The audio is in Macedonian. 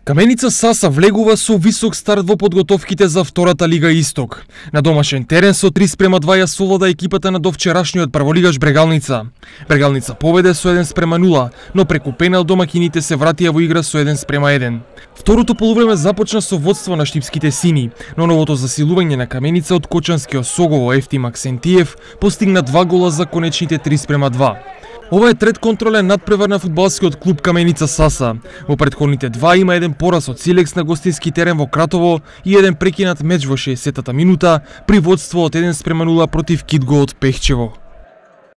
Каменица Саса влегува со висок старт во подготовките за втората Лига Исток. На домашен терен со 3:2 ја совлада екипата на довчерашниот прволигаш Брегалница. Брегалница победе со 1:0, но преку пенал домакините се вратија во игра со 1:1. Второто полувреме започна со водство на штипските сини, но новото засилување на Каменица од кочанскиот Согово Ефтим Аксентиев постигна 2 гола за конечните 3:2. Ова е трет контролен надпревар на фудбалскиот клуб Каменица Саса. Во претходните два има еден пораз од Силекс на гостински терен во Кратово и еден прекинат меч во 60-та минута при водство од 1:0 против Кидго од Пехчево.